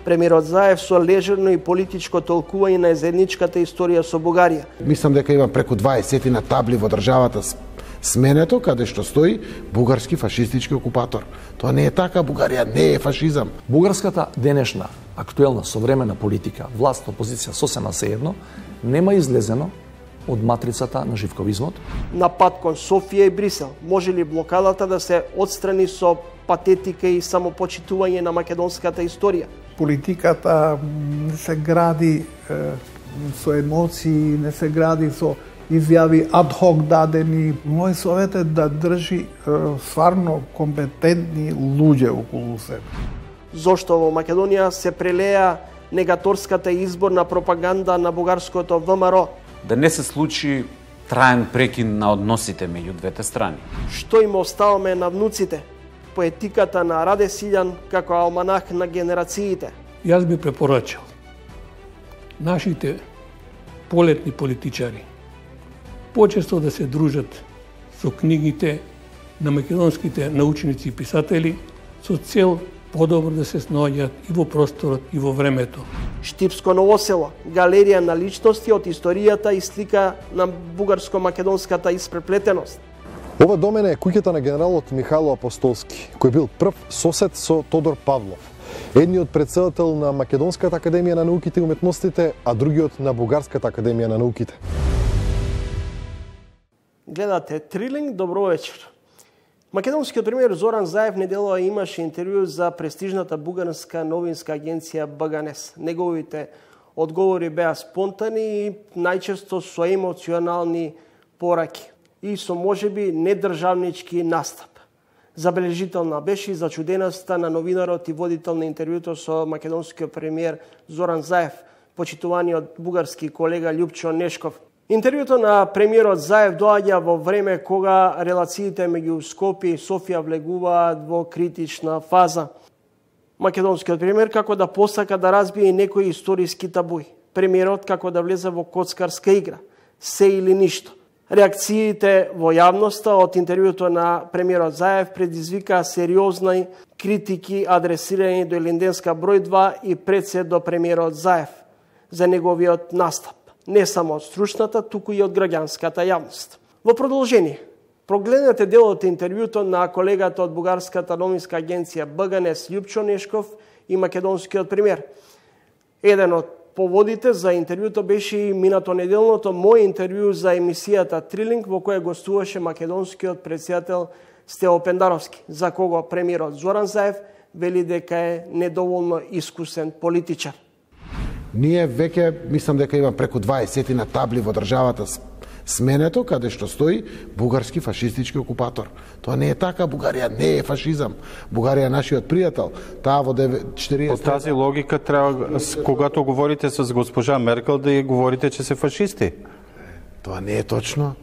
Премиерот Заев со лежерно и политичко толкување на заедничката историја со Бугарија. Мислам дека има преку 20 на табли во државата сменето, каде што стои бугарски фашистички окупатор. Тоа не е така, Бугарија не е фашизам. Бугарската денешна, актуелна, современа политика, власт, опозиција, сосема сеедно, нема излезено од матрицата на живковизмот. На пат кон Софија и Брисел, може ли блокадата да се отстрани со патетика и самопочитување на македонската историја? Политиката не се гради со емоции, не се гради со изјави адхок дадени. Мој совет е да држи стварно компетентни луѓе околу себе. Зошто во Македонија се прелеа негаторската изборна пропаганда на бугарското ВМРО? Да не се случи траен прекин на односите меѓу двете страни. Што им оставаме на внуците? Поетиката на Раде Силјан како алманах на генерациите. Јас би препорачал нашите полетни политичари почесто да се дружат со книгите на македонските научници и писатели со цел подобро да се снаоѓаат и во просторот и во времето. Штипско Ново село, галерија на личности од историјата и слика на бугарско-македонската испреплетеност. Ова до мене е куќата на генералот Михајло Апостолски, кој бил прв сосед со Тодор Павлов, едниот претседател на Македонската академија на науките и уметностите, а другиот на Бугарската академија на науките. Гледате Трилинг, добро вечер. Македонскиот премиер Зоран Заев неделава имаше интервју за престижната бугарска новинска агенција БГНЕС. Неговите одговори беа спонтани и најчесто со емоционални пораки и со можеби недржавнички настап. Забележителна беше и зачуденоста на новинарот и водител на интервјуто со македонскиот премиер Зоран Заев, почитуваниот бугарски колега Љупчо Нешков. Интервјуто на премиерот Заев доаѓа во време кога релациите меѓу Скопје и Софија влегуваат во критична фаза. Македонскиот премиер како да посака да разбие некои историски табуи. Премиерот како да влезе во коцкарска игра. Се или ништо. Реакциите во јавноста од интервјуто на премиерот Заев предизвика сериозни критики адресирани до Илинденска број 2 и пред се до премиерот Заев за неговиот настап. Не само од стручната, туку и од граѓанската јавност. Во продолжение, прогледнете дел од интервјуто на колегата од Бугарската новинска агенција БГНЕС Љупчо Нешков и македонскиот премиер. Еден од поводите за интервјуто беше и минато неделното мој интервју за емисијата Трилинг, во која гостуваше македонскиот претседател Стево Пендаровски, за кого премиерот Зоран Заев вели дека е недоволно искусен политичар. Ние веќе мислам дека има преку 20 на табли во државата сменето, каде што стои бугарски фашистички окупатор. Тоа не е така, Бугарија не е фашизам. Бугарија е нашиот пријател. Таа во 40... По тази логика треба, когато говорите с госпожа Меркел, да ја говорите че се фашисти. Тоа не е точно.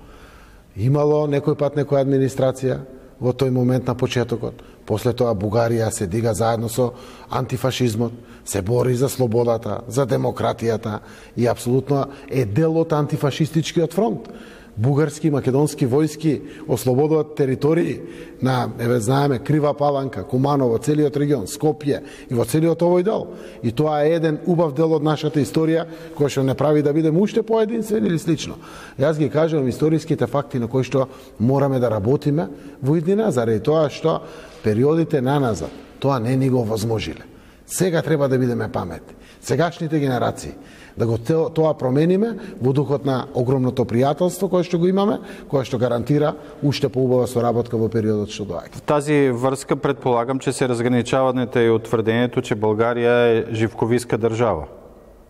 Имало некој пат некоја администрација во тој момент на почетокот. После тоа Бугарија се дига заедно со антифашизмот, се бори за слободата, за демократијата и апсолутно е дел од антифашистичкиот фронт. Бугарски и македонски војски ослободуваат територии на, знаеме, Крива Паланка, Куманово, целиот регион, Скопје и во целиот овој дел. И тоа е еден убав дел од нашата историја, кој што не прави да бидеме уште поединствени или слично. Јас ги кажувам историските факти на кои што мораме да работиме во иднина, заради тоа што периодите наназад тоа не ни го возможиле. Сега треба да бидеме паметни. Сегашните генерации да го тоа промениме во духот на огромното пријателство кое што го имаме, кое што гарантира уште поубава соработка во периодот што доаѓа. В тази врска предполагам, че се разграничавате и от тврдението, че България е живковистка държава.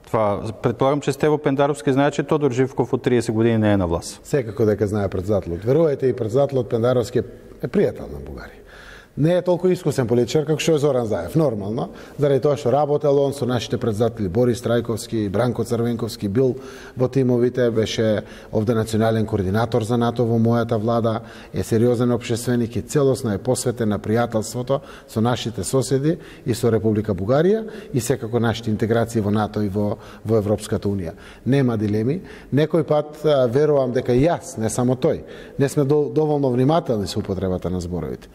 Това предполагам, че Стево Пендаровски знае, че Тодор Живков от 30 години не е на власт. Секако дека знае председателот. Верувате, и председателот Пендаровски е пријател на Бугарија. Не е толку искусен политичар како што е Зоран Заев, нормално, заради тоа што работел он со нашите председатели Борис Трајковски, Бранко Црвенковски, бил во тимовите, беше овде национален координатор за НАТО во мојата влада, е сериозен општественик и целосно е посветен на пријателството со нашите соседи и со Република Бугарија и секако нашите интеграции во НАТО и во Европската унија. Нема дилеми. Некој пат верувам дека и јас, не само тој, не сме доволно внимателни со употребата на зборовите.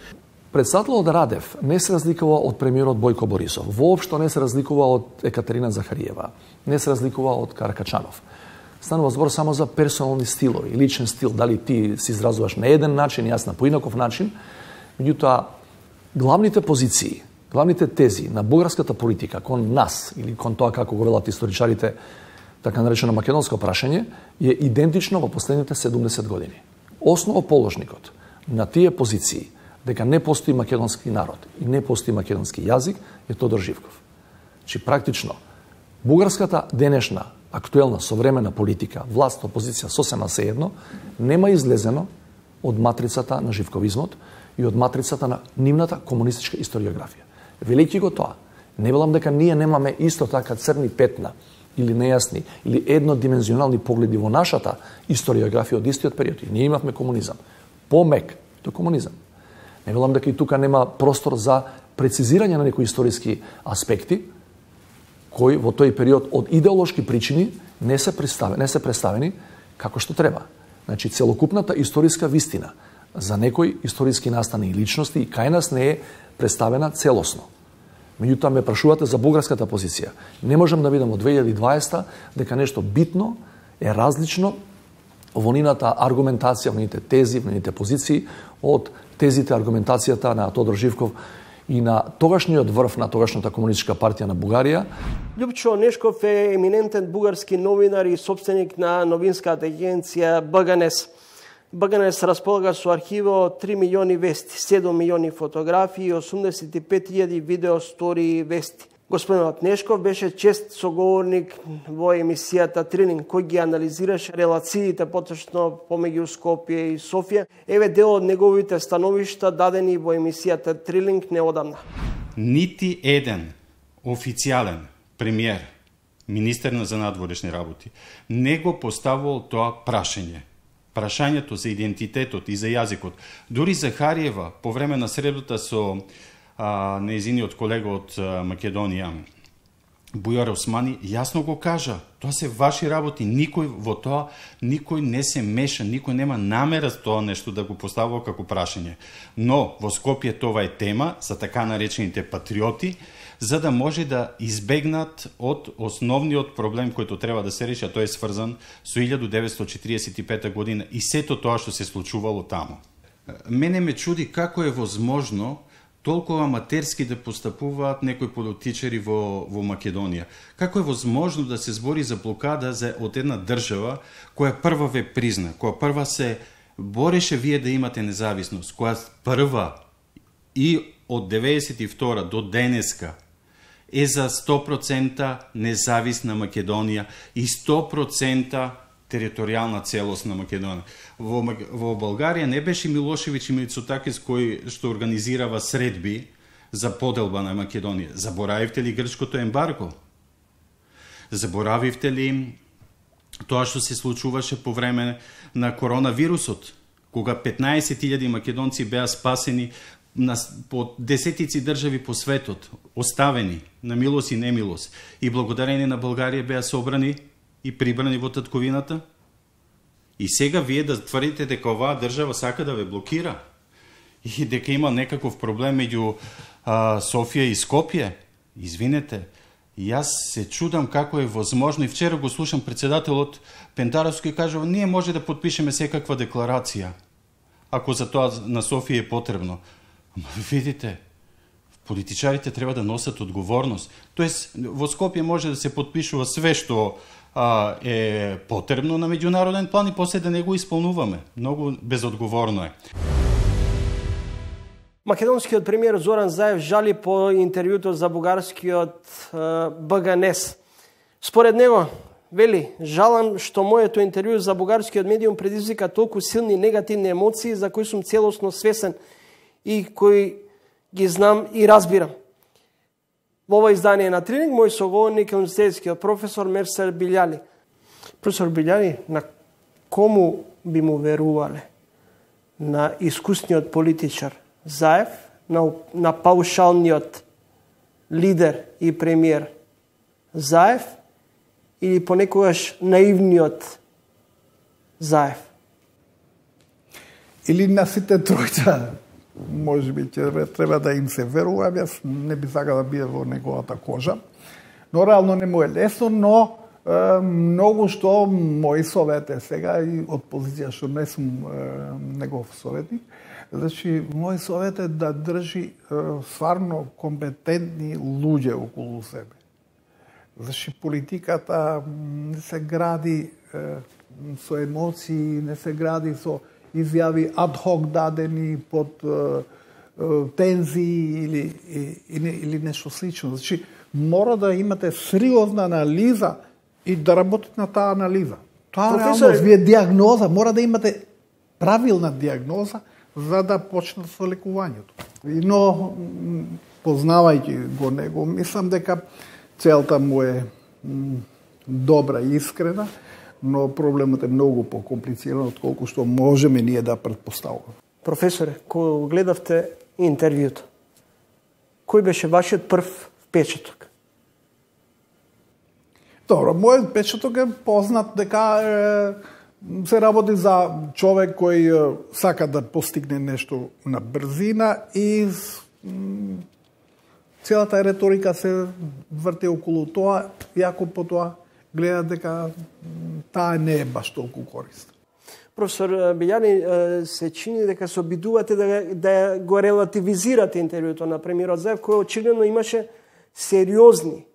Председателот Радев не се разликува од премиерот Бојко Борисов, воопшто не се разликува од Екатерина Захариева, не се разликува од Каракачанов. Станува збор само за персонални стилови, личен стил, дали ти се изразуваш на еден начин, јас на поинаков начин. Меѓутоа, главните позиции, главните тези на бугарската политика кон нас или кон тоа како го велат историчарите, така наречено македонско прашање, е идентично во последните 70 години. Основоположникот на тие позиции дека не постои македонски народ и не постои македонски јазик е Тодор Живков. Значи, практично, бугарската денешна, актуелна, современа политика, власт, опозиција, сосема сеедно, нема излезено од матрицата на живковизмот и од матрицата на нивната комунистичка историографија. Велики го тоа. Не велам дека ние немаме исто така црни петна или нејасни, или еднодимензионални погледи во нашата историографија од истиот период. И ние имавме комунизам. Помек до комунизам. Не велам дека и тука нема простор за прецизирање на некои историски аспекти, кои во тој период од идеолошки причини не се представени како што треба. Значи, целокупната историска вистина за некои историски настани и личности и кај нас не е представена целосно. Меѓутоа ме прашувате за бугарската позиција. Не можам да видам од 2020 дека нешто битно е различно во нината аргументација, во нините тези, во нините позиции од тезите, аргументацијата на Тодор Живков и на тогашниот врв на тогашната комунистичка партија на Бугарија. Љупчо Нешков е еминентен бугарски новинар и собственик на новинската агенција БГНЕС. БГНЕС располага со архива од 3 милиони вести, 7 милиони фотографии и 85.000 видео, стори и вести. Господинот Нешков беше чест соговорник во емисијата Трилинг, кој ги анализираше релациите поточно помеѓу Скопје и Софија. Еве дел од неговите становишта дадени во емисијата Трилинг неодамна. Нити еден официјален премиер, министер за надворешни работи, не го поставувал тоа прашање. Прашањето за идентитетот и за јазикот. Дури Захариева, по време на средбата со нејзиниот колега од Македонија, Бујар Османи, јасно го кажа. Тоа се ваши работи, никој во тоа, никој не се меша, никој нема намера за тоа нешто да го поставува како прашање. Но во Скопје тоа е тема за така наречените патриоти, за да може да избегнат од основниот проблем кој треба да се реши, а тој е сврзан со 1945 година и сето тоа што се случувало таму. Мене ме чуди како е возможно толкова аматерски да постапуваат некои политичари во Македонија. Како е возможно да се збори за блокада од една држава која прва ве призна, која прва се бореше вие да имате независност, која прва и од 92 до денеска е за 100% независна Македонија и 100% територијална целост на Македонија. Во Българија не беше Милошевиќ и Мицотакис кој што организирава средби за поделба на Македонија. Заборавивте ли грчкото ембарго? Заборавивте ли тоа што се случуваше по време на коронавирусот, кога 15.000 македонци беа спасени по десетици држави по светот, оставени на милост и немилост, и благодарение на Българија беа собрани и прибрани во татковината? И сега вие да тврдите дека оваа држава сака да ве блокира и дека има некаков проблем меѓу Софија и Скопје? Извинете, јас се чудам како е возможно, и вчера го слушам председателот Пендаровски и кажува, ние може да подпишеме секаква декларација, ако за тоа на Софија е потребно. Ама видите, политичарите треба да носат одговорност. Тоест, во Скопје може да се подпишува све што е потребно на меѓународен план и после да не го исполнуваме. Многу безодговорно е. Македонскиот премиер Зоран Заев жали по интервјуто за бугарскиот БГНЕС. Според него, вели, жалам што моето интервју за бугарскиот медиум предизвика толку силни негативни емоции за кои сум целосно свесен и кои ги знам и разбирам. Во ова издание на Трилинг, мој соговорник е универзитетскиот професор Мерсел Билјали. Професор Билјали, на кому би му верувале? На искусниот политичар Заев, на паушалниот лидер и премиер Заев или понекогаш наивниот Заев? Или на сите тројца можеби ќе треба да им се верува, јас не би сакал да биде во неговата кожа. Но реално не му е лесно, но многу што мои совети сега и од позиција што не сум негов советник, значи мој совет е да држи стварно компетентни луѓе околу себе. Значи политиката не се гради со емоции, не се гради со изјави адхок дадени под тензии или нешто слично. Значи мора да имате сериозна анализа и да работите на таа анализа. Тоа реално вие диагноза, мора да имате правилна диагноза за да почнат со лекувањето. Но познавајќи го него, мислам дека целта му е добра и искрена, но проблемот е многу покомплициран отколку што можеме ние да претпоставуваме. Професоре, кога гледавте интервјуто, кој беше вашиот прв впечаток? Добро, мојот впечаток е познат дека се работи за човек кој сака да постигне нешто на брзина и целата реторика се врти околу тоа, иако по тоа гледа дека таа не е баш толку корисна. Професор Билјани, се чини дека се обидувате да го релативизирате интервјуто на премиерот Заев, кој очигледно имаше сериозни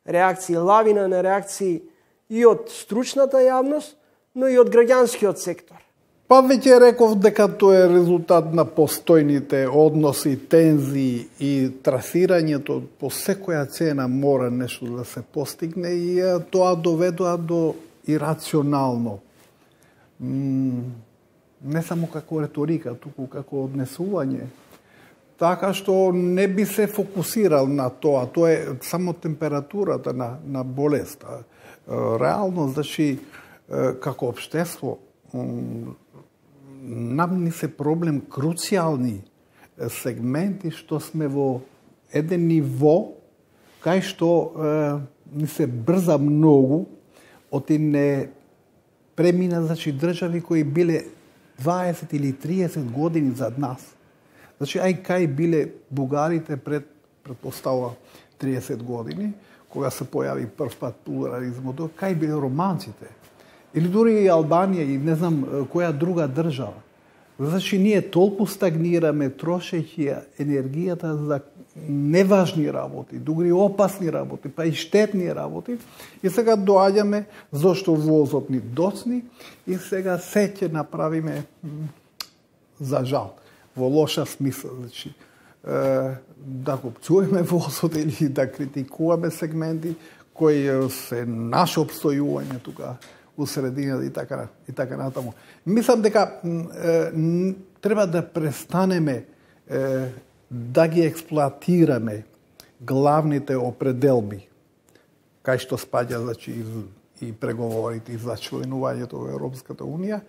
реакции, лавина на реакции и од стручната јавност, но и од граѓанскиот сектор. Па веќе реков дека тоа е резултат на постојните односи, тензии и трасирањето по секоја цена мора нешто да се постигне и тоа доведува до ирационално. Не само како реторика, туку како однесување. Така што не би се фокусирал на тоа. Тоа е само температурата на болеста. Реално, значи, како општество, нам ни се проблем круцијални сегменти што сме во еден ниво кај што ни се брза многу, оти не премина, значи, држави кои биле 20 или 30 години зад нас. Значи, кај биле бугарите предпоставува 30 години, кога се појави прв пат плурализмот, кај биле романците. Или дури и Албанија и не знам која друга држава. Значи, ние толку стагнираме трошејќи енергијата за неважни работи, дури опасни работи, па и штетни работи. И сега доаѓаме зашто возот ни доцни и сега се ќе направиме за жал, во лоша смисла. Значи, да го пцуеме возот или да критикуваме сегменти кои се наше обстојување тука у средината и така натаму. Мислам дека треба да престанеме да ги експлоатираме главните определби, кај што спаѓа, значи, и преговорите и за членувањето во Европската Унија,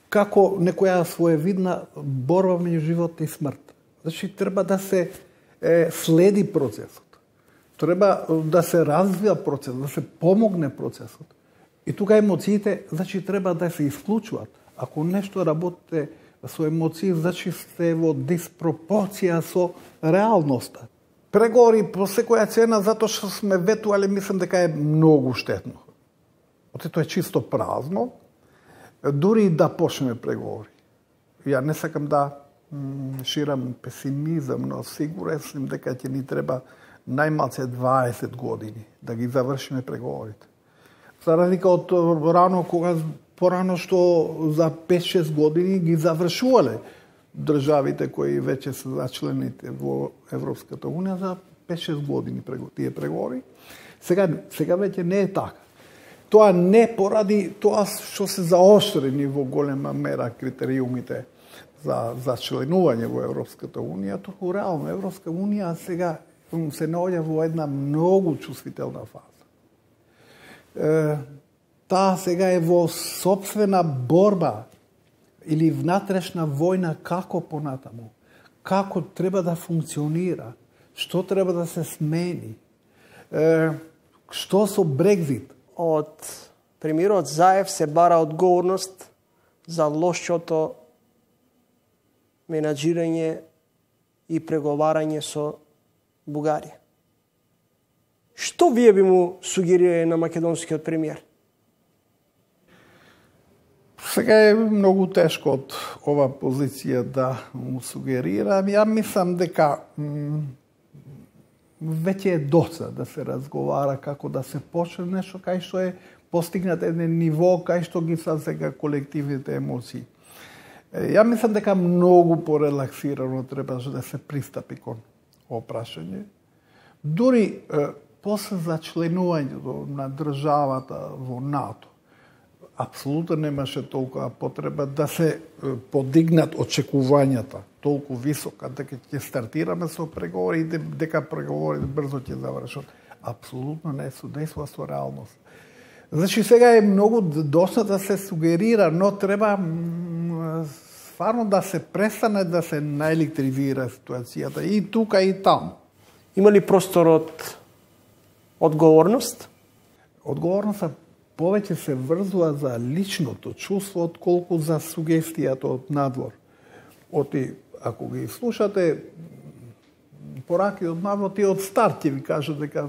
како некоја своевидна борба меѓу живот и смрт. Значи, треба да се следи процесот. Треба да се развива процесот, да се помогне процесот. И тука емоциите, значи, треба да се исклучуваат. Ако нешто работите со емоции, значи сте во диспропорција со реалноста. Преговори по секоја цена, затоа што сме ветувале, мислам дека е многу штетно. Оте тоа е чисто празно, дури да почнеме преговори. Ја не сакам да ширам песимизам, но сигурен сум дека ќе ни треба најмалце 20 години да ги завршиме преговорите. За разлика од рано, кога порано што за 5-6 години ги завршувале државите кои веќе се зачлените во Европската Унија за 5-6 години тие преговори. Сега веќе не е така. Тоа не поради тоа што се заоштрени во голема мера критериумите за членување во Европската Унија, туку реално Европска Унија сега се наоѓа во една многу чувствителна фаза. Таа сега е во сопствена борба или внатрешна војна како понатаму, како треба да функционира, што треба да се смени, што со Брекзит. Од премиерот Заев се бара одговорност за лошото менаџирање и преговарање со Бугарија. Што вие би му сугерирали на македонскиот премиер? Сега е многу тешко од ова позиција да му сугерирам. Ја мислам дека веќе е доца да се разговара како да се почне нешто кај што е постигнат еден ниво кај што ги сега колективните емоции. Ја мислам дека многу порелаксирано требаше да се пристапи кон ова прашање. Дури после зачленувањето на државата во НАТО, апсолутно немаше толкова потреба да се подигнат очекувањата толку висока, дека ќе стартираме со преговори и дека преговорите брзо ќе завршат. Апсолутно не судейства со реалност. Значи сега е многу доста да се сугерира, но треба стварно да се престане да се наелектризира ситуацијата и тука и таму. Има ли простор од одговорност? Одговорноста повеќе се врзува за личното чувство отколку за сугестијата од надвор. Ако ги слушате пораки од надвор, тие од старт ќе ви кажат дека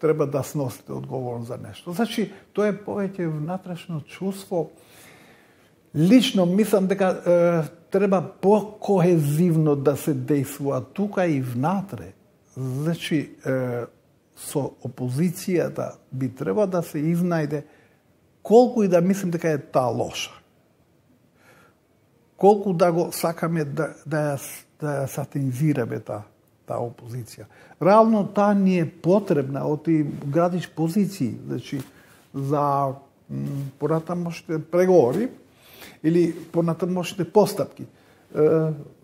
треба да сносите одговорност за нешто. Значи, тоа е повеќе внатрешно чувство. Лично мислам дека треба по-кохезивно да се действува тука и внатре. Значи, со опозицијата би треба да се изнајде колку и да мислим дека е таа лоша. Колку да го сакаме да ја сатанизираме таа опозиција. Реално таа ни е потребна, оти градиш позиции, значи за понатамошните преговори или понатамошните постапки.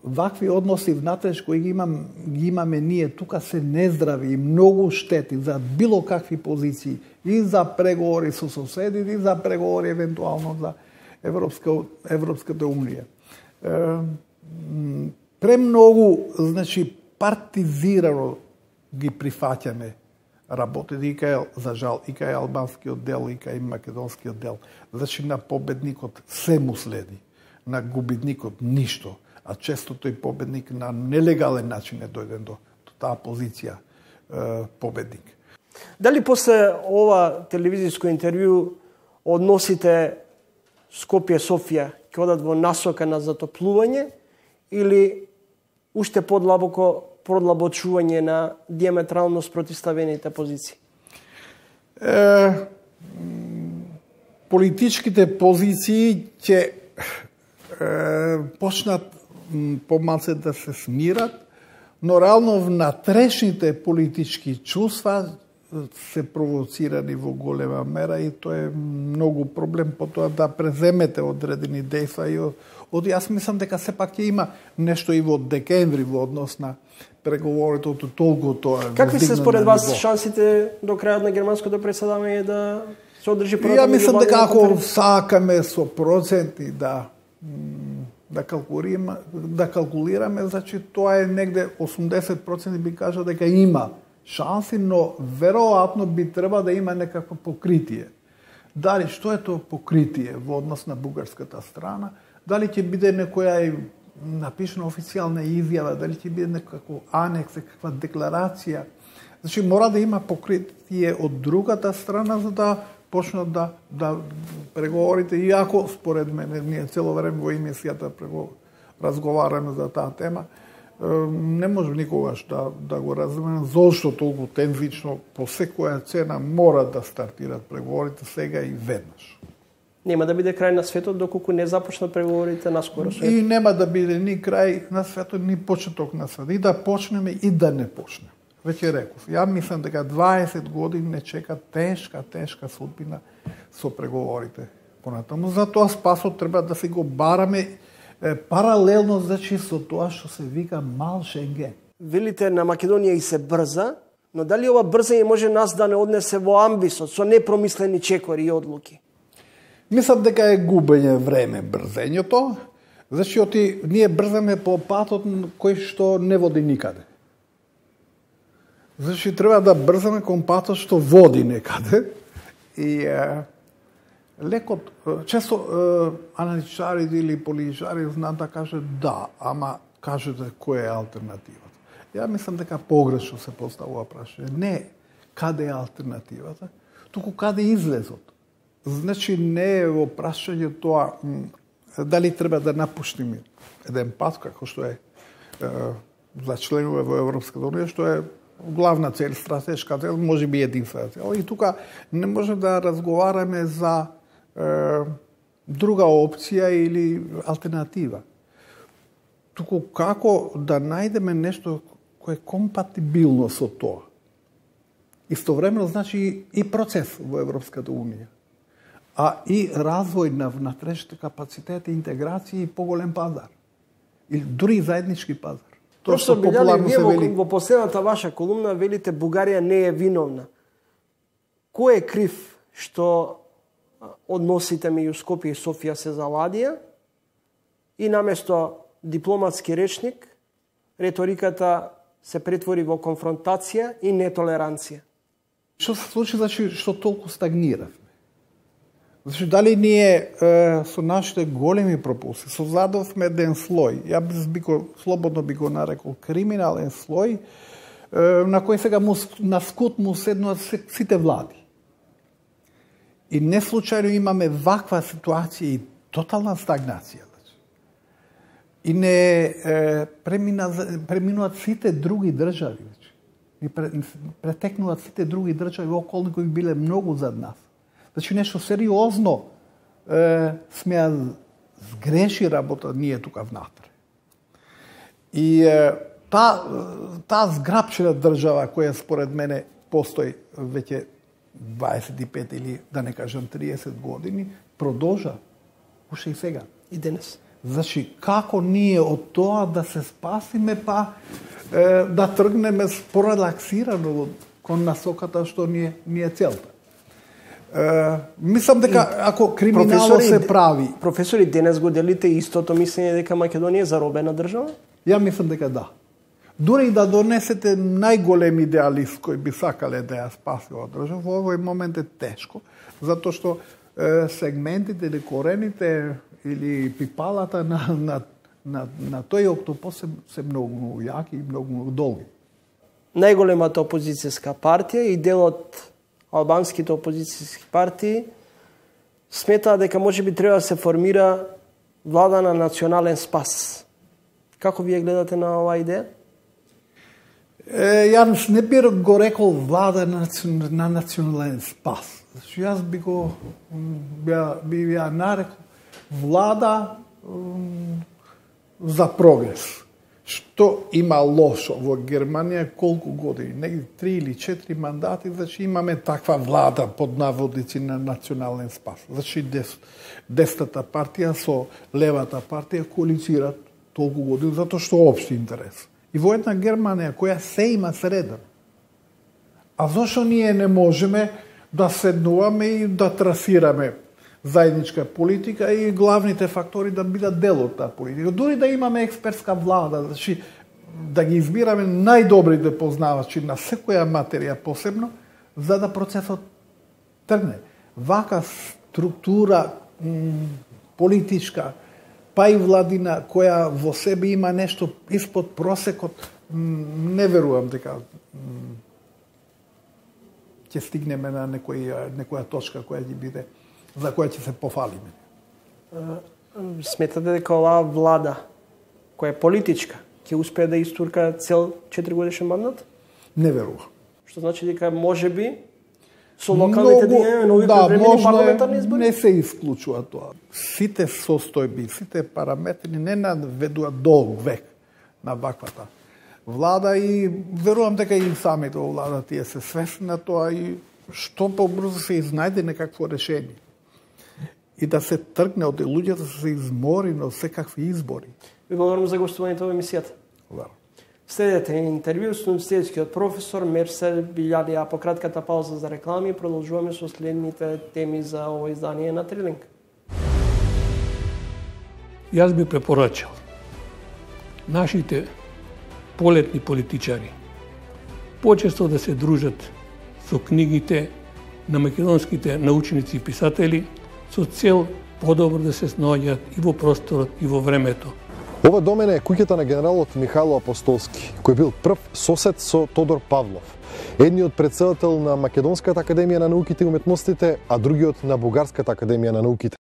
Вакви односи внатре кои ги имаме ние тука се нездрави и многу штети за било какви позиции и за преговори со соседи и за преговори евентуално за Европската унија. Премногу, значи, партизирано ги прифаќаме работите и кај, за жал, и кај албанскиот дел, и кај македонскиот дел. Значи, на победникот се му следи, на губитникот ништо, а често тој победник на нелегален начин е дојден до таа позиција победник. Дали после ова телевизиско интервју односите Скопје-Софија ќе одат во насока на затоплување или уште продлабочување на диаметрално спротивставените позиции? Политичките позиции ќе почнат помалце да се смират, но реално внатрешните политички чувства се провоцирани во голема мера и тоа е многу проблем потоа да преземете одредени дејства и јас мислам дека сепак ќе има нешто и во декември во однос на преговорите од толку тоа. Какви се според вас шансите до крајот на германското преседавање да се одржи првата? Ја мислам дека ако сакаме со проценти да калкулираме, значи тоа е негде 80% би кажал дека има шанси, но веројатно би треба да има некакво покритие. Дали што е тоа покритие во однос на бугарската страна? Дали ќе биде некоја напишана официјална изјава, дали ќе биде некако анекс, каква декларација? Значи мора да има покритие од другата страна за да почнат да преговорите, иако според мене ние цело време во емисијата разговараме за таа тема, не може никогаш да го разбереме зошто толку тензично по секоја цена мора да стартират преговорите сега и веднаш. Нема да биде крај на светот доколку не започнат преговорите наскоро. И нема да биде ни крај на светот, ни почеток на светот. И да почнеме и да не почнеме. Веќе реков, ја мислам дека 20 години не чека тешка судбина со преговорите понатаму. Затоа спасот треба да се го бараме паралелно, значи, со тоа што се вика мал Шенген. Велите на Македонија и се брза, но дали ова брзање може нас да не однесе во амбисот со непромислени чекори и одлуки? Мислам дека е губење време брзењето, значи ние брзаме по патот кој што не води никаде. Значи треба да брзаме кон патот што води некаде и лекот, често аналитичари или политичари знаат да кажат да, ама кажете која е алтернативата. Ја мислам дека погрешно се поставува прашање. Не каде е алтернативата, туку каде е излезот. Значи не е во прашање тоа дали треба да напуштиме еден пат, како што е за членове во Европската унија, што е главна цел, стратешка цел, може би единствена цел. И тука не може да разговараме за друга опција или алтернатива. Туку како да најдеме нешто кое е компатибилно со тоа. Истовремено значи и процес во Европската унија, а и развој на внатрешните капацитети, интеграција и поголем пазар. Или дури заеднички пазар. Тоа што популарно се вели. Во последната ваша колумна велите Бугарија не е виновна. Кој е крив што односите меѓу Скопје и Софија се заладија и наместо дипломатски речник реториката се претвори во конфронтација и нетолеранција? Што се случи, значи, што толку стагниравме? Значи, дали ние со нашите големи пропуси создадовме еден слој, слободно би го нарекол криминален слој, на кој сега на скут му седнуваат сите влади. И не случајно имаме ваква ситуација и тотална стагнација. И не преминуваат сите други држави. И претекнуваат сите други држави околни кои биле многу зад нас. Значи нешто сериозно смеа сгреши работа ние тука внатре. И таа зграпчена држава која според мене постои веќе 25 или да не кажам 30 години, продолжа уште и сега. И денес. Значи, како ние од тоа да се спасиме, па да тргнеме порелаксирано кон насоката што ни е целта. Мислам дека ако криминално се прави... Професори, денес го делите истото мислење дека Македонија е заробена држава? Ја мислам дека да. Дури и да донесете најголем идеалист кој би сакале да ја спаси оваа држава, во овој момент е тешко, затоа што сегментите или корените или пипалата на тој октопос се многу јаки и многу долги. Најголемата опозицијска партија и дел од албанските опозицијски партии сметаа дека можеби треба да се формира влада на национален спас. Како вие гледате на оваа идеја? Јас не би го рекол влада на национален спас. Јас би ја нарекол влада за прогрес. Што има лошо во Германија колку години, негде 3 или 4 мандати, значи имаме таква влада под наводици на национален спас. Значи десната партија со левата партија коалицираат толку години затоа што општи интерес. И во една Германија која се има среден. А зошто ние не можеме да седнуваме и да трасираме заедничка политика и главните фактори да бидат дел од таа политика. Дури да имаме експертска влада, значи да ги избираме најдобрите познавачи на секоја материја посебно, за да процесот тргне. Вака структура политичка, па и владина, која во себе има нешто испод просекот, не верувам дека ќе стигнеме на некоја точка која ќе биде за која ќе се пофалиме. Сметате дека оваа влада, која е политичка, ќе успее да истурка цел 4-годишен мандат? Не верувам. Што значи дека можеби со локалните дења нови превремени парламентарни избори? Не се исклучува тоа. Сите состојби, сите параметри не наведуваат долг век на ваквата влада и верувам дека и самите во влада тие се свесни на тоа и што побрзо се изнајде некакво решение. И да се тргне од луѓето да се измори на секакви избори. Ви благодарам за гостувањето во емисијата. Благодарам. Следете интервју со универзитетскиот професор Мерсел Билјади, а по кратката пауза за реклами продолжуваме со следните теми за ово издание на Трилинг. Јас би препорачал нашите полетни политичари почесто да се дружат со книгите на македонските научници и писатели со цел подобро да се снаоѓаат и во просторот и во времето. Ова до мене е куќата на генералот Михајло Апостолски, кој бил прв сосед со Тодор Павлов, едниот претседател на Македонската академија на науките и уметностите, а другиот на Бугарската академија на науките.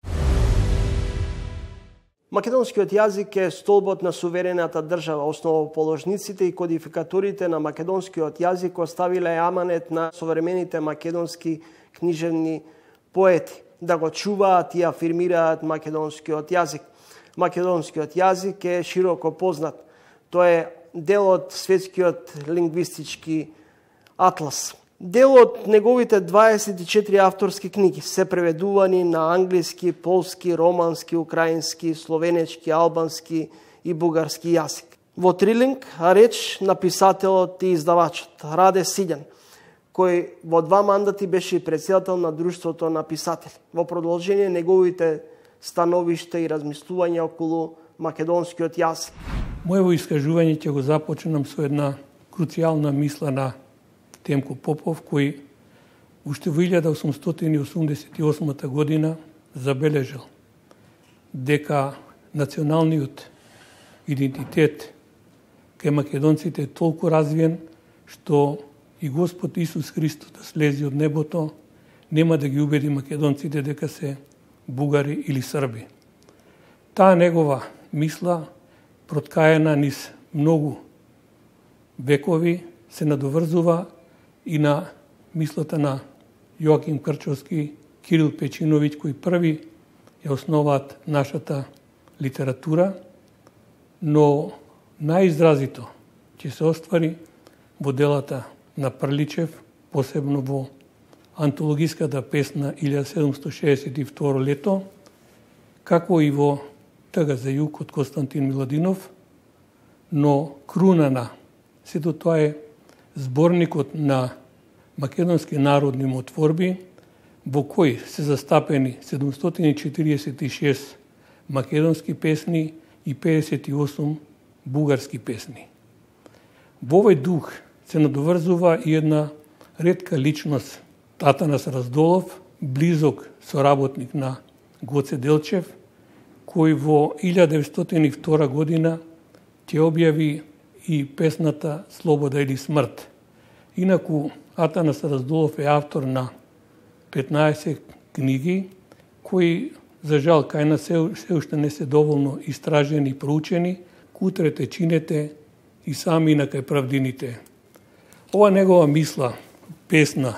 Македонскиот јазик е столбот на суверената држава. Основоположниците и кодификаторите на македонскиот јазик оставиле аманет на современите македонски книжевни поети да го чуваат и афирмираат македонскиот јазик. Македонскиот јазик е широко познат. Тој е дел од светскиот лингвистички атлас. Дел од неговите 24 авторски книги се преведувани на англиски, полски, романски, украински, словенечки, албански и бугарски јазик. Во трилинг реч на писателот и издавачот Раде Сиѓан, кој во 2 мандати беше претседател на Друштвото на писатели. Во продолжение неговите становишта и размислувања околу македонскиот јазик. Моево искажување ќе го започнам со една круцијална мисла на Темко Попов, кој уште во 1888 година забележал дека националниот идентитет кај македонците е толку развиен, што и Господ Исус Христос да слези од небото, нема да ги убеди македонците дека се бугари или срби. Таа негова мисла, проткаена низ многу векови, се надоврзува и на мислата на Јоаким Крчовски, Кирил Печиновиќ, кои први ја основаат нашата литература, но најизразито ќе се оствари во делата на Прличев, посебно во антологиската песна 1762 лето, како и во Тага за југ од Константин Миладинов, но круна на сето тоа е зборникот на македонски народни мотворби, во кој се застапени 746 македонски песни и 58 бугарски песни. Во овој дух се надоврзува и една ретка личност, Атанас Раздолов, близок соработник на Гоце Делчев, кој во 1902 година ќе објави и песната Слобода или смрт. Инаку, Атанас Раздолов е автор на 15 книги, кои, за жал, кај нас се уште не се доволно истражени и проучени, кутрете, чинете и сами на кај правдините. Ова негова мисла, песна,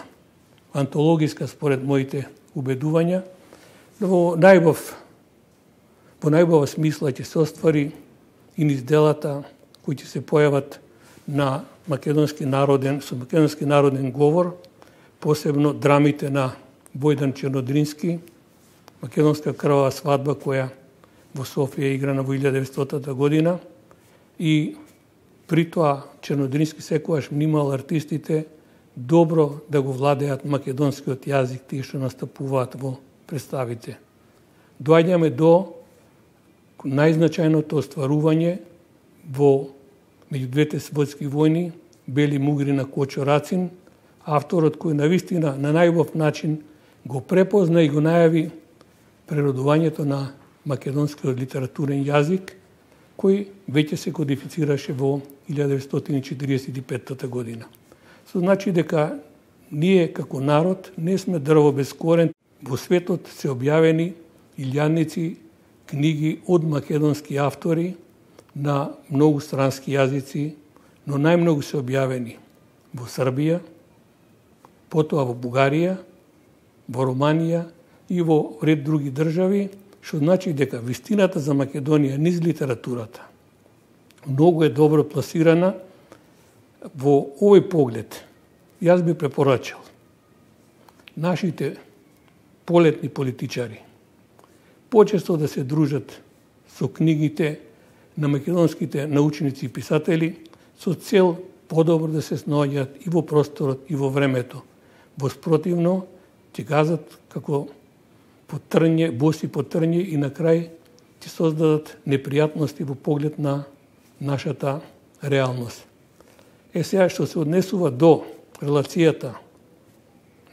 антологиска според моите убедувања, во најбава смисла ќе се оствари и низ делата кои ќе се појават на македонски народен говор, посебно драмите на Бојдан Чернодрински, Македонска крвава свадба, која во Софија играна во 1900 година, и при тоа Чернодрински секогаш внимал артистите добро да го владеат македонскиот јазик, тие што настапуваат во представите. Доаѓаме до најзначајното остварување во меѓу двете светски војни, Бели Мугри на Кочо Рацин, авторот кој навистина на најубав начин го препозна и го најави преродувањето на македонскиот литературен јазик, кој веќе се кодифицираше во 1945 година. Со значи дека ние како народ не сме дрво без корен. Во светот се објавени илјадници книги од македонски автори на многу странски јазици, но најмногу се објавени во Србија, потоа во Бугарија, во Романија и во ред други држави, што значи дека вистината за Македонија низ литературата многу е добро пласирана. Во овој поглед јас би препорачал нашите полетни политичари почесто да се дружат со книгите на македонските научници и писатели со цел подобро да се снаоѓаат и во просторот и во времето. Воспротивно ќе газат како потрње, боси потрње и на крај ќе создадат непријатности во поглед на нашата реалност. Сега што се однесува до релацијата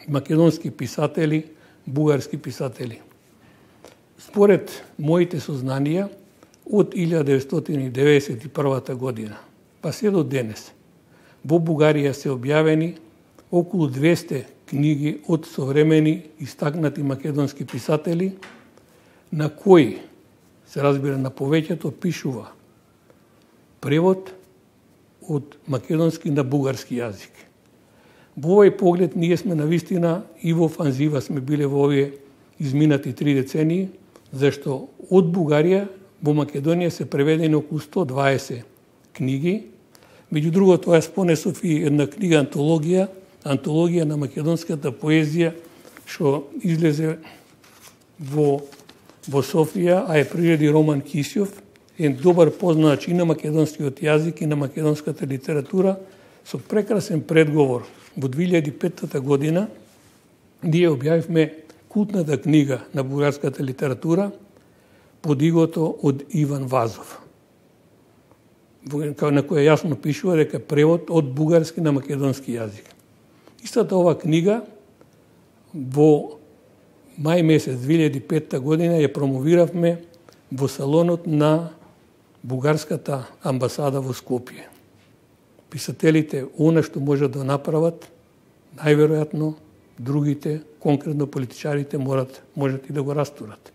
македонски писатели, бугарски писатели. Според моите сознанија, од 1991 година, па се до денес, во Бугарија се објавени околу 200 книги од современи истакнати македонски писатели, на кои, се разбира на повеќето, пишува превод од македонски на бугарски јазик. Во овој поглед ние сме навистина и во офанзива сме биле во овие изминати 3 децении, зашто од Бугарија во Македонија се преведени околу 120 книги. Меѓу другото, јас понесов и една книга антологија на македонската поезија, што излезе во Софија, а е приреди Роман Кисјов, е добар познач и на македонскиот јазик и на македонската литература, со прекрасен предговор. Во 2005 година ние објавивме култната книга на бугарската литература Подигото од Иван Вазов, на која јасно пишува дека превод од бугарски на македонски јазик. Истата ова книга во мај месец 2005 година ја промовиравме во салонот на бугарската амбасада во Скопје. Писателите она што можат да направат, најверојатно другите, конкретно политичарите, можат и да го растурат.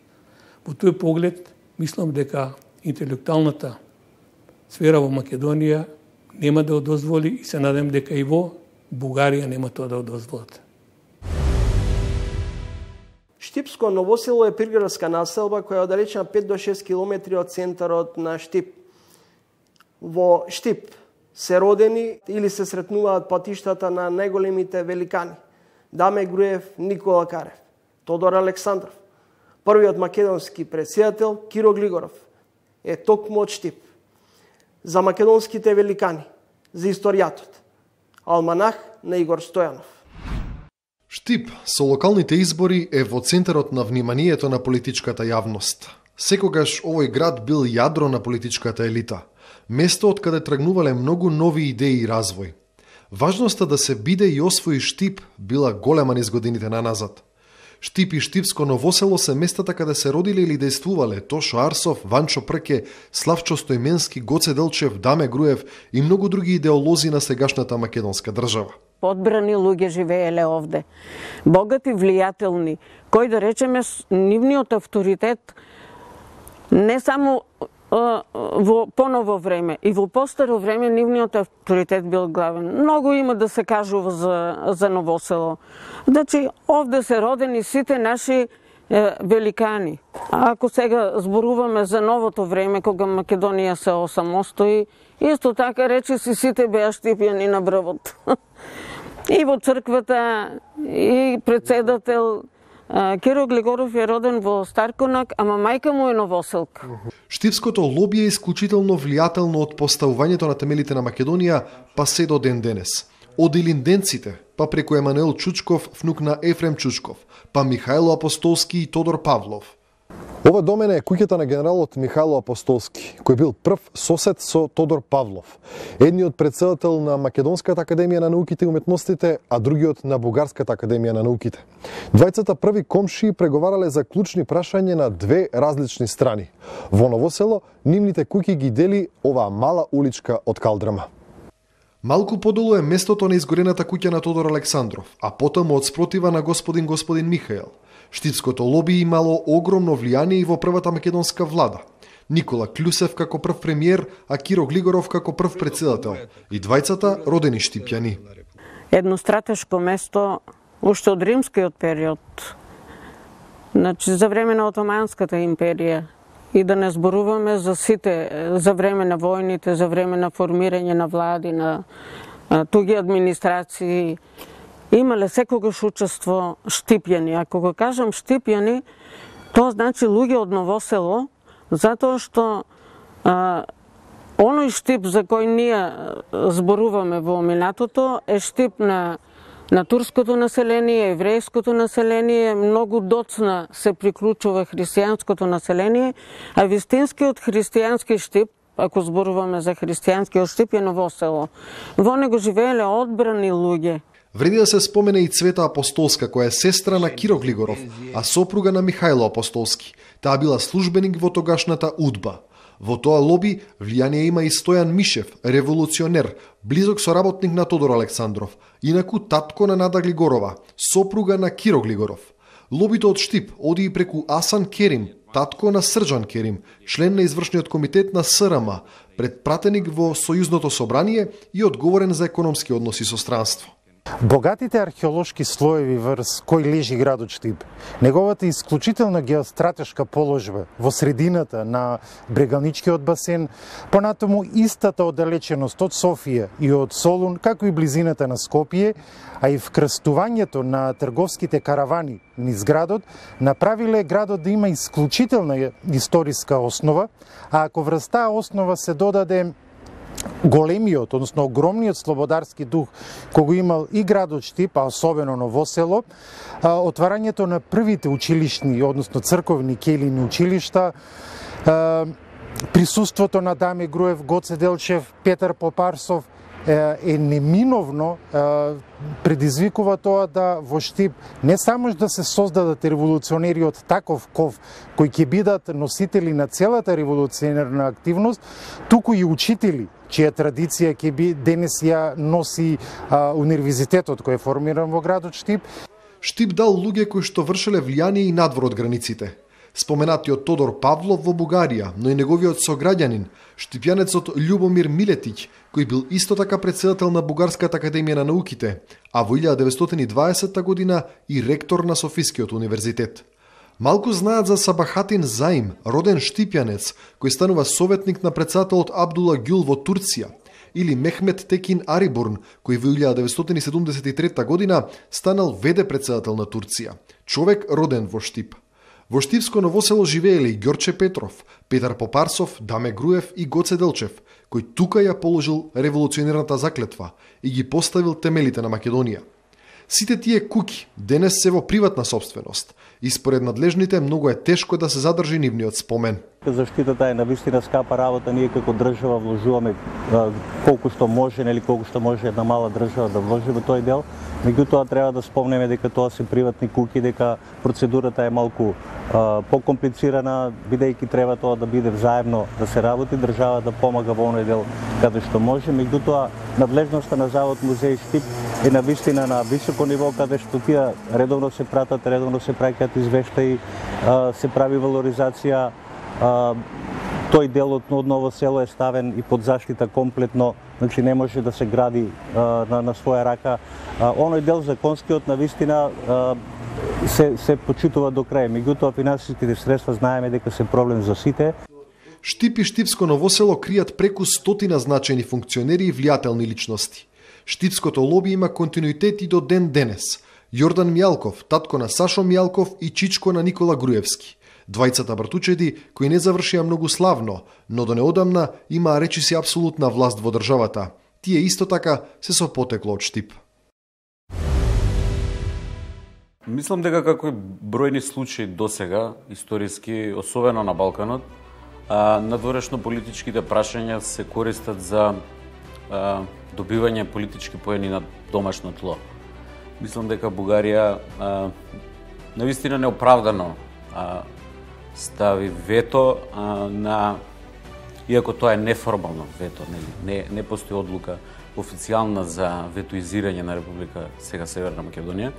Во тој поглед, мислам дека интелектуалната сфера во Македонија нема да одозволи и се надам дека и во Бугарија нема тоа да одозволат. Штипско Новосело е приградска населба која е оддалечена 5 до 6 километри од центарот на Штип. Во Штип се родени или се сретнуваат патиштата на најголемите великани: Даме Груев, Никола Карев, Тодор Александров. Првиот македонски претседател, Киро Глигоров, е токму од Штип. За македонските великани, за историјатот, Алманах на Игор Стојанов. Штип со локалните избори е во центарот на вниманието на политичката јавност. Секогаш овој град бил јадро на политичката елита, место од каде тргнувале многу нови идеи и развој. Важноста да се биде и освои Штип била голема низ годините наназад. Штип и Штипско Новосело се местата каде се родиле или дејствувале Тошо Арсов, Ванчо Прке, Славчо Стојменски, Гоце Делчев, Даме Груев и многу други идеолози на сегашната македонска држава. Одбрани луѓе живееле овде. Богати, влијателни, кои да речеме нивниот авторитет не само во поново време, и во постаро време нивниот авторитет бил главен. Многу има да се кажува за Новосело. Значи, овде се родени сите наши великани. Ако сега зборуваме за новото време, кога Македонија се осамостои, исто така речи си сите беа штипјани на брвот. И во црквата, и председател. Киро Глигоров е роден во Старконак, ама мајка му е Новоселка. Штипското лоби е исклучително влијателно од поставувањето на темелите на Македонија, па се до ден денес. Од илинденците, па преку Емануел Чучков, внук на Ефрем Чучков, па Михајло Апостолски и Тодор Павлов. Ова до мене е куќата на генералот Михајло Апостолски, кој бил прв сосед со Тодор Павлов, едниот претседател на Македонската академија на науките и уметностите, а другиот на Бугарската академија на науките. Двајцата први комшии преговарале за клучни прашања на две различни страни. Во Новосело нивните куќи ги дели оваа мала уличка од калдрама. Малку подолу е местото на изгорената куќа на Тодор Александров, а потаму од спротива на господин Михаел. Штипското лоби имало огромно влијание и во првата македонска влада. Никола Клюсев како прв премиер, а Киро Глигоров како прв председател. И двајцата родени штипјани. Едно стратешко место уште од римскиот период. Значи, за време на Отоманската империја. И да не зборуваме за сите, за време на војните, за време на формирање на влади, на туги администрации. Имале секогаш учество штипјани. Ако го кажам штипјани, тоа значи луѓе од Новосело, затоа што оној штип за кој ние зборуваме во минатото е штип на турското население, еврејското население, многу доцна се приклучува христијанското население, а вистинскиот христијански штип, ако зборуваме за христијанскиот штип, е Новосело. Во него живееле одбрани луѓе. Вреди да се спомене и Цвета Апостолска, која е сестра на Киро Глигоров, а сопруга на Михајло Апостолски. Таа била службеник во тогашната УДБА. Во тоа лоби влијание има и Стојан Мишев, револуционер, близок соработник на Тодор Александров, инаку татко на Нада Глигорова, сопруга на Киро Глигоров. Лобито од Штип оди и преку Асан Керим, татко на Срџан Керим, член на извршниот комитет на СРМ, предпратеник во Сојузното собрание и одговорен за економски односи со странство. Богатите археолошки слоеви врз кој лежи градот Штип, неговата исклучителна геостратешка положба во средината на Брегалничкиот басен, понатаму истата оддалеченост од Софија и од Солун, како и близината на Скопје, а и вкрстувањето на трговските каравани низ градот, направиле градот да има исклучителна историска основа, а ако врз таа основа се додаде големиот, односно огромниот слободарски дух кој го имал и градот Штип, а особено Ново село, отварањето на првите училишни, односно црковни келини училишта, присуството на Даме Груев, Гоце Делчев, Петар Попарсов е неминовно предизвикува тоа да во Штип не само да се создадат револуционери од таков ков кои ќе бидат носители на целата револуционерна активност, туку и учители чија традиција ќе би денес ја носи универзитетот кој е формиран во градот Штип. Штип дал луѓе кои што вршеле влијание и надвор од границите. Споменатиот Тодор Павлов во Бугарија, но и неговиот сограѓанин, штипјанецот Љубомир Милетиќ, кој бил исто така претседател на Бугарската академија на науките, а во 1920 година и ректор на Софискиот универзитет. Малку знаат за Сабахатин Заим, роден штипјанец, кој станува советник на претседателот Абдула Гюл во Турција, или Мехмет Текин Арибурн, кој во 1973 година станал ВД претседател на Турција, човек роден во Штип. Во Штипско Ново село живееле и Ѓорче Петров, Петар Попарсов, Даме Груев и Гоце Делчев, кој тука ја положил револуционерната заклетва и ги поставил темелите на Македонија. Сите тие куќи денес се во приватна собственост и според надлежните многу е тешко да се задржи нивниот спомен. Заштитата е навистина скапа работа, ние како држава вложуваме колку што може, нели колку што може една мала држава да вложи во тој дел. Меѓутоа треба да спомнеме дека тоа се приватни куќи, дека процедурата е малку покомплицирана, бидејќи треба тоа да биде взаемно да се работи, држава да помага во оној дел каде што може. Меѓутоа надлежноста на Завод музеј Штип е навистина на високо ниво, каде што тие редовно се пратат, редовно се праќаат извештаи, се прави валоризација. Тој дел од Ново село е ставен и под заштита комплетно, значи не може да се гради на своја рака. Оној дел законскиот навистина се почитува до крај. Меѓутоа финансиските средства знаеме дека се проблем за сите. Штип и Штипско Ново село кријат преку 100 значајни функционери и влијателни личности. Штипското лоби има континуитет и до ден денес. Јордан Мјалков, татко на Сашо Мјалков и чичко на Никола Груевски. Двајцата братучеди кои не завршија многу славно, но до неодамна имаа речиси апсолутна власт во државата. Тие исто така се со потекло од Штип. Мислам дека како и бројни случаи досега, историски, особено на Балканот, надворешно политичките прашања се користат за добивање политички поени на домашно тло. Мислам дека Бугарија навистина неоправдано стави вето на, иако тоа е неформално вето, не постои одлука официјална за ветоизирање на Република сега Северна Македонија.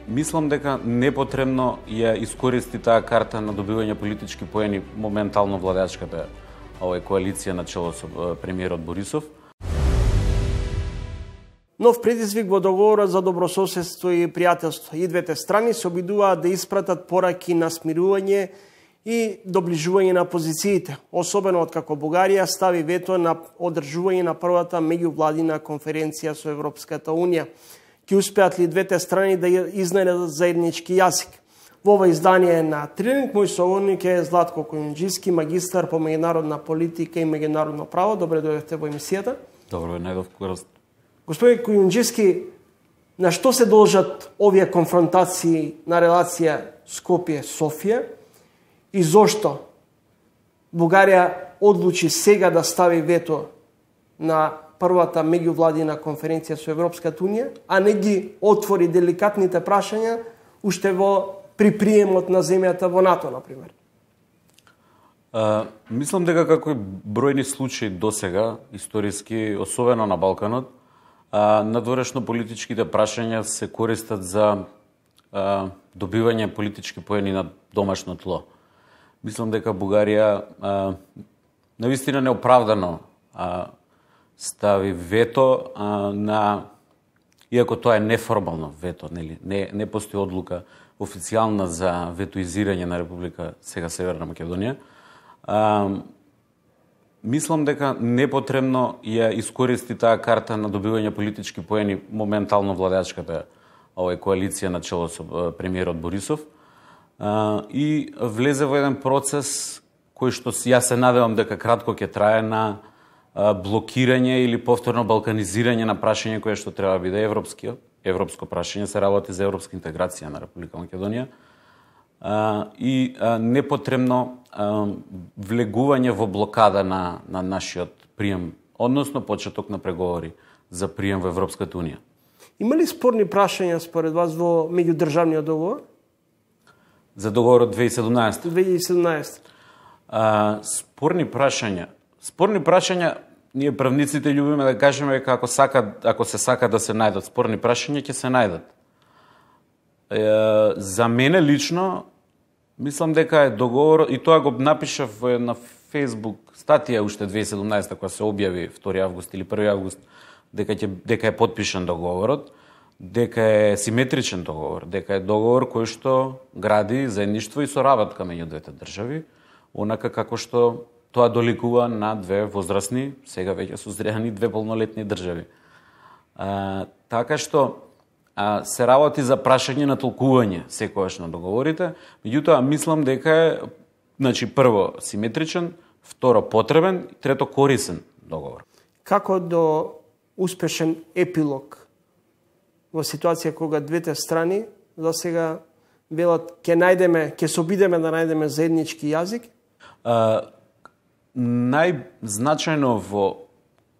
Мислам дека непотребно ја искористи таа карта на добивање политички поени моментално владачката коалиција на чело со премиерот Борисов. Нов предизвик во договорот за добрососедство и пријателство. И двете страни се обидуваат да испратат пораки на смирување и доближување на позициите, особено откако Бугарија стави вето на одржување на првата меѓувладина конференција со Европската Унија. Ќе успеат ли двете страни да изнајдат заеднички јазик? Во ова издание на Трилинг, мој соговорник е Златко Кујунџиски, магистар по меѓународна политика и меѓународно право. Добре дојдовте во емисијата. Добро, најдов. Господин Кујунџиски, на што се должат овие конфронтации на релација Скопје-Софија и зошто Бугарија одлучи сега да стави вето на првата меѓувладина конференција со Европската Унија, а не ги отвори деликатните прашања уште во при приемот на земјата во НАТО, например? Мислам дека како и бројни случаи досега, историски, особено на Балканот, надворешно политичките прашања се користат за добивање политички поени на домашно тло. Мислам дека Бугарија навистина неоправдано стави вето на, иако тоа е неформално вето, нели, не постои одлука официјална за ветоизирање на Република сега Северна Македонија. Мислам дека непотребно ја искористи таа карта на добивање политички поени моментално владеачката коалиција на чело со премиерот Борисов и влезе во еден процес кој што јас се надевам дека кратко ќе трае на блокирање или повторно балканизирање на прашање кое што треба да биде европско прашање, се работи за европска интеграција на Република Македонија и непотребно влегување во блокада на нашиот прием, односно почеток на преговори за прием во Европската Унија. Има ли спорни прашања според вас во меѓудржавниот договор? За договорот 2017? 2017. Спорни прашања, ние правниците љубиме да кажеме дека ако се сака да се најдат спорни прашања, ќе се најдат. За мене лично, мислам дека е договор, и тоа го напишав на Facebook статија уште 2017, кога се објави 2 август или 1 август, дека е подпишан договорот, дека е симетричен договор, дека е договор кој што гради заедништво и соработка меѓу двете држави, онака како што тоа доликува на две возрастни, сега веќе созрени две полнолетни држави. Така што се работи за прашање на толкување секогаш на договорите, меѓутоа мислам дека е, прво симетричен, второ потребен, трето корисен договор. Како до успешен епилог во ситуација кога двете страни за сега велат ќе се обидеме да најдеме заеднички јазик? Најзначајно во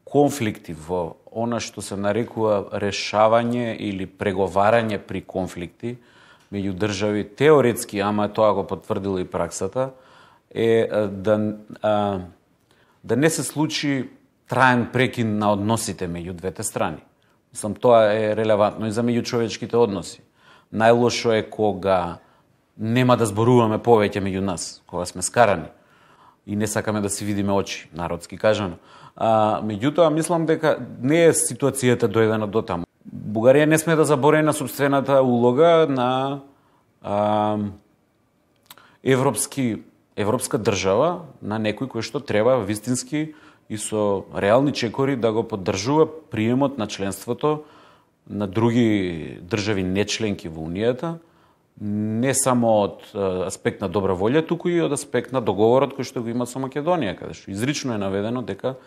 конфликти, во она што се нарекува решавање или преговарање при конфликти меѓу држави, теоретски, ама тоа го потврдила и праксата, е да не се случи траен прекин на односите меѓу двете страни. Мислам, тоа е релевантно и за меѓучовечките односи. Најлошо е кога нема да зборуваме повеќе меѓу нас, кога сме скарани и не сакаме да си видиме очи, народски кажано. Меѓутоа, мислам дека не е ситуацијата дојдена до таму. Бугарија не сме да заборави на собствената улога на европска држава, на некој кој што треба вистински и со реални чекори да го поддржува приемот на членството на други држави нечленки во Унијата, не само од аспект на добра волја, туку и од аспект на договорот кој што го има со Македонија, каде што изрично е наведено дека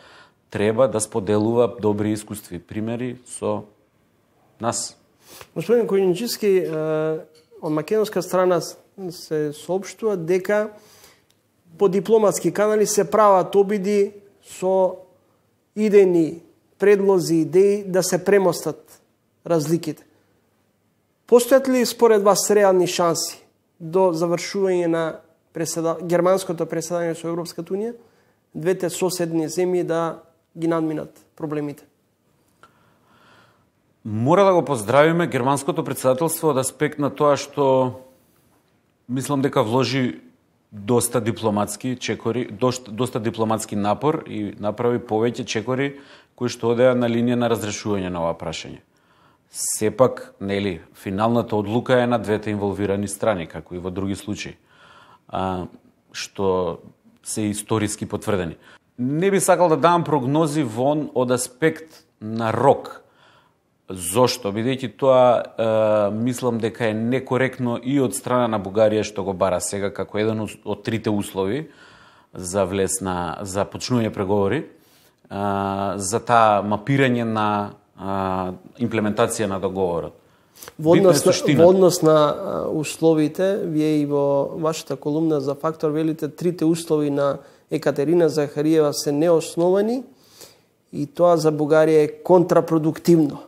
треба да споделува добри искуства и примери со нас. Господин Којничевски, од македонска страна се соопштува дека по дипломатски канали се прават обиди со идејни предлози, идеи да се премостат разликите. Постојат ли според вас реални шанси до завршување на германското преседање со Европската Унија, двете соседни земји да ги надминат проблемите? Мора да го поздравиме германското председателство од аспект на тоа што мислам дека вложи доста дипломатски чекори, доста дипломатски напор и направи повеќе чекори кои што одеа на линија на разрешување на ова прашање. Сепак, нели, финалната одлука е на двете инволвирани страни, како и во други случаи, што се историски потврдени. Не би сакал да давам прогнози вон од аспект на рок. Зошто? Бидејќи тоа мислам дека е некоректно и од страна на Бугарија што го бара сега како еден од трите услови за за почнување преговори, за таа мапирање на имплементација на договорот. Во однос на условите, вие и во вашата колумна за Фактор велите трите услови на Екатерина Захариева се неосновани и тоа за Бугарија е контрапродуктивно.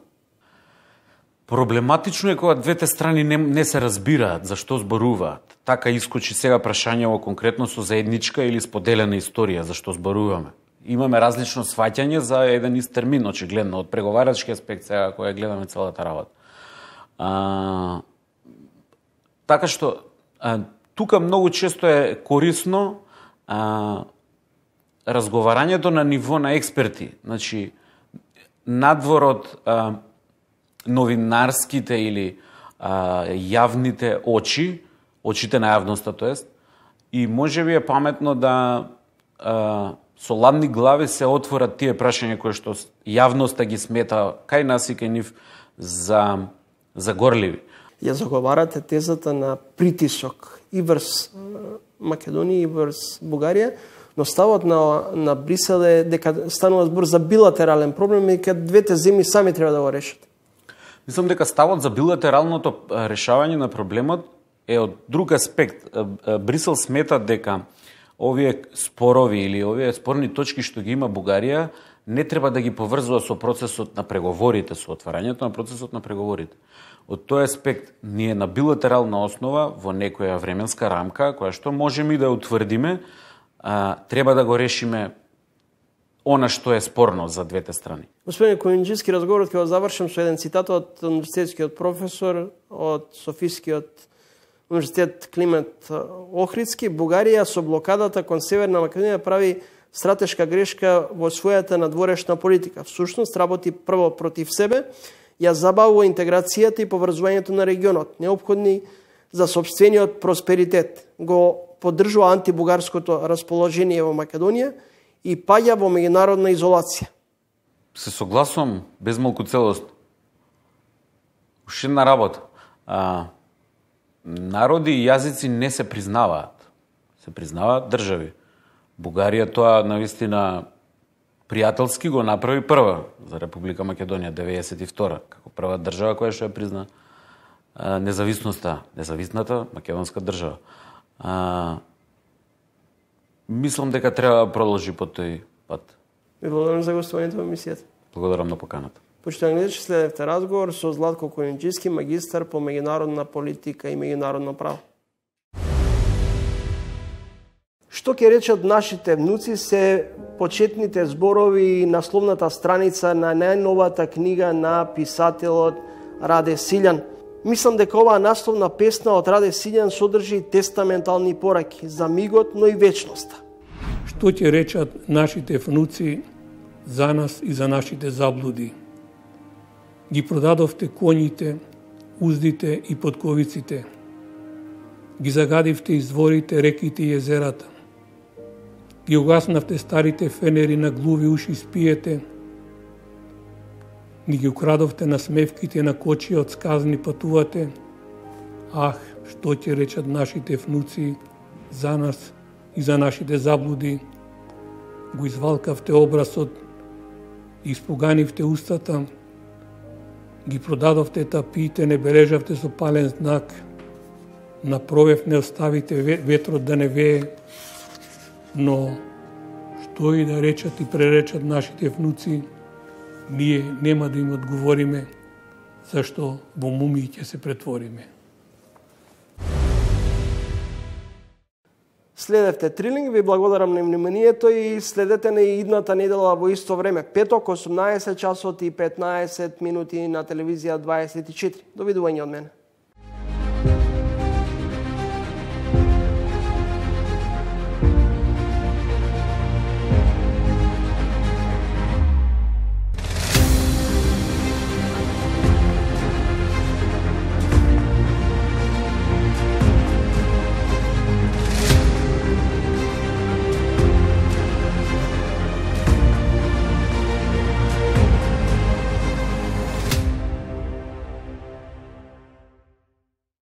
Проблематично е кога двете страни не се разбираат за што зборуваат. Така искочи сега прашањево конкретно со заедничка или споделена историја за што зборуваме. Имаме различно сваќање за еден ист термин, очигледно, од преговарачки аспект сега која гледаме целата работа. Така што тука многу често е корисно разговарањето на ниво на експерти, значи надвор од новинарските или јавните очите на јавноста, тоест, и можеби е паметно да со ладни глави се отворат тие прашања кои што јавноста ги смета кај нас и кај нив за горливи. Ја заговарате тезата на притисок и врз Македонија и врз Бугарија, но ставот на Брисел е дека станува збор за билатерален проблем и дека двете земји сами треба да го решат. Мислам дека ставот за билатералното решавање на проблемот е од друг аспект. Брисел смета дека овие спорови или овие спорни точки што ги има Бугарија не треба да ги поврзува со процесот на преговорите, со отварањето на процесот на преговорите. Од тој аспект, ние на билатерална основа, во некоја временска рамка, која што можеме и да утврдиме, треба да го решиме она што е спорно за двете страни. Господин Којунџиски, разговорот ќе го завршам со еден цитат од универзитетскиот професор од Софискиот универзитет Климент Охридски. Бугарија со блокадата кон Северна Македонија прави стратешка грешка во својата надворешна политика. Всушност работи прво против себе, ја забавува интеграцијата и поврзувањето на регионот, неопходни за сопствениот просперитет. Го поддржува антибугарското расположение во Македонија и паѓа во меѓународна изолација. Се согласувам без малку целост. Уште една работа. Народи и јазици не се признаваат. Се признаваат држави. Бугарија тоа навистина пријателски го направи прва за Република Македонија 92 како прва држава која што ја призна независната македонска држава. Мислам дека треба да продолжи по тој пат. Ви благодарам за гостувањето во емисијата. Благодарам на поканата. Почитувани гледачи, следевте разговор со Златко Којунџиски, магистар по меѓународна политика и меѓународно право. Што ќе речат нашите внуци се почетните зборови и насловната страница на најновата книга на писателот Раде Силјан. Мислам дека оваа насловна песна од Раде Силјан содржи тестаментални пораки за мигот, но и вечноста. Што ќе речат нашите внуци за нас и за нашите заблуди? Ги продадовте коњите, уздите и подковиците. Ги загадивте изворите, реките и езерата. Ги угаснавте старите фенери на глуви уши спиете. Ни ги украдовте на смевките на кочија од сказни патувате. Ах, што ќе речат нашите внуци за нас и за нашите заблуди? Го извалкавте образот, испуганивте устата, ги продадовте тапиите, не бележавте со пален знак, на провев не оставите ветрот да не вее, но што и да речат и преречат нашите внуци, ние нема да им одговориме, зашто во мумии ќе се претвориме. Следевте Трилинг, ви благодарам на вниманието и следете на идната недела во исто време, петок, 18 часот и 15 минути на телевизија 24. Довидување од мене.